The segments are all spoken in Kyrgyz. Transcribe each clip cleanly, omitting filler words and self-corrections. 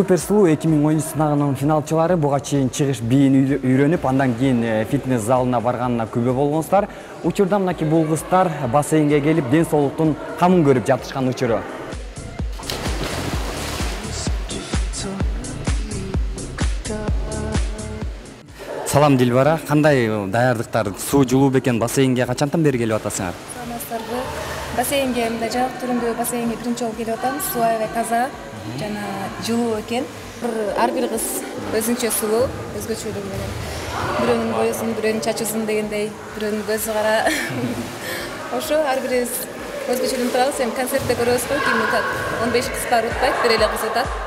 Супер сулуу 2013 сынагынын финалчылары буга чейин чыгыш бийин үйрөнүп, андан кийин фитнес залына барганына күбө болгонсуздар. Учурда мынакей бул кыздар бассейнге келип, ден соолуктун камын көрүп жатышкан учуру. Салам Дилбара, кандай даярдыктар? Суу жылуу бекен, бассейнге качантан бери келип атасыңар? Саламатсыздарбы. Бассейнге мындай жабык түрүндө бассейнге биринчи жолу келип атам. Суу аябай таза жана жылуу экен. Ар бир кыз өзүнчө сулуу, өзгөчөлүгү менен. Бирөөнүн боюсун, бирөөнүн чачуусун дегендей, бирөөнүн көзү кара. Ошо ар бирибиз өзгөчөлүгүн турабыз. Эми концертте көрөбүз го, ким утат. 15 кыз бар утпайт, бир эле кыз утат.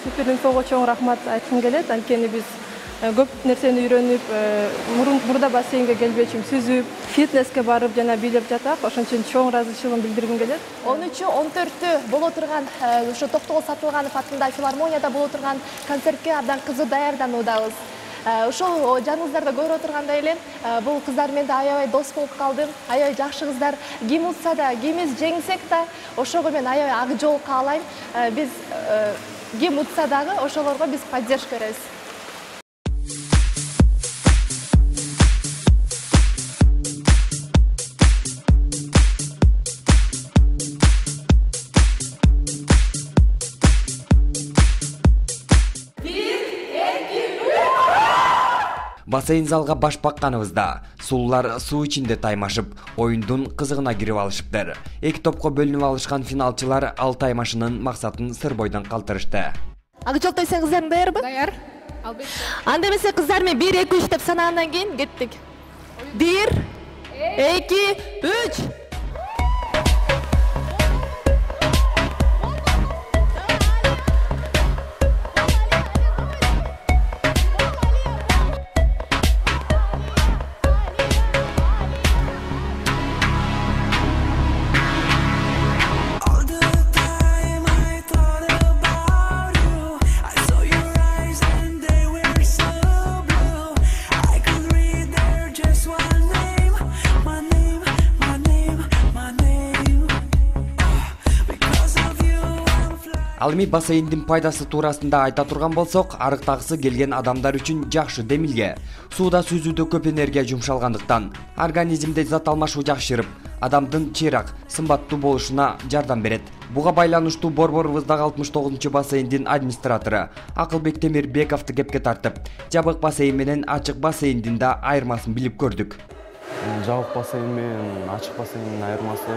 Суперинфого чоң рахмат айткым келет. Анткени биз көп нерсени үйрөнүп, мурда бассейнге келбечүм сүзүп, фитнеске барып жана бийлеп жатак. Ошон үчүн чоң ыраазычылыгымды билдиргим келет. 13-14 боло турган ошо Токтогул Сатылганов атындагы филармонияда боло турган концертке абдан кызуу даярдануудабыз. Ошол жаныңыздарда көрүп отургандай эле бул кыздар менен аябай дос болуп калдым. Аябай жакшы кыздар. Ким утса да, кимиз жеңсек да, ошого мен аябай ак жол каалайм. Биз ким утса дагы ошолорго биз поддержка беребиз. Бассейн залга баш бакканыбызда сулуулар суу ичинде таймашып, оюндун кызыгына кирип алышыптыр. Эки топко бөлүнүп алышкан финалчылар ал таймашынын максатын сыр бойдон калтырышты. Ак жол тойсоң кыздарың даярбы? Даяр. Албетте. Анда эмесе кыздар менен 1-2-3 деп санагандан кийин кеттик. 1 2 3. Ал эми бассейндин пайдасы туурасында айта турган болсок, арыктагысы келген адамдар үчүн жакшы демилге. Сууда сүзүүдө көп энергия жумшалгандыктан организмде зат алмашуу жакшырып, адамдын чыйрак, сымбаттуу болушуна жардам берет. Буга байланыштуу борборубуздагы 69-чу бассейндин администратору Акылбек Темирбековду кепке тартып, жабык бассейн менен ачык бассейндин да айырмасын билип көрдүк. Жабык бассейн менен ачык бассейндин айырмасы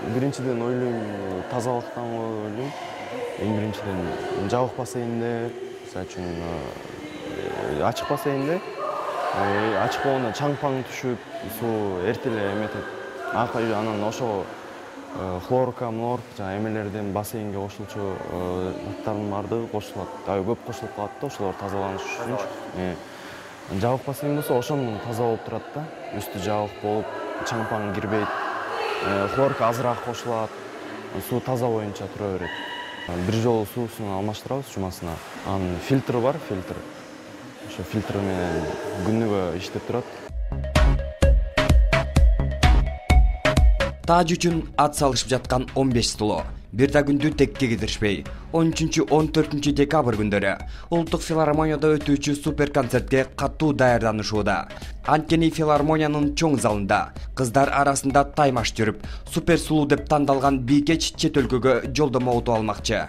биринчиден ойлойм тазалыктан ойлойм. Эң биринчиден жабык бассейнде, мисалы үчүн ачык бассейнде ачык болгондо чаң-паң түшүп, суу эрте эле эметет. Анан ошо хлорка, жана эмелерден бассейнге кошулчу заттардын баардыгы кошулат. Көп кошулуп калат да, ошолор тазаланыш үчүнчү. Жабык бассейн болсо ошондон таза болуп турат да. Үстү жабык болуп, чаң-паң кирбейт. Хлорка азыраак кошулат. Суу таза боюнча тура берет. Бир жолу суусун алмаштырабыз жумасына. Анын фильтри бар, фильтр. Ошо фильтр менен күнүгө иштеп турат. Тааж үчүн ат салышып жаткан 15 стуло. Бир да күндү текке кидиришпей, 13-14 декабрь күндөрү Улуттук филармонияда өтүүчү супер концертке катуу даярданышууда. Анткени филармониянын чоң залында кыздар арасында таймаш жүрүп, супер сулуу деп тандалган бийкеч чет өлкөгө жолдомо утуп алмакчы.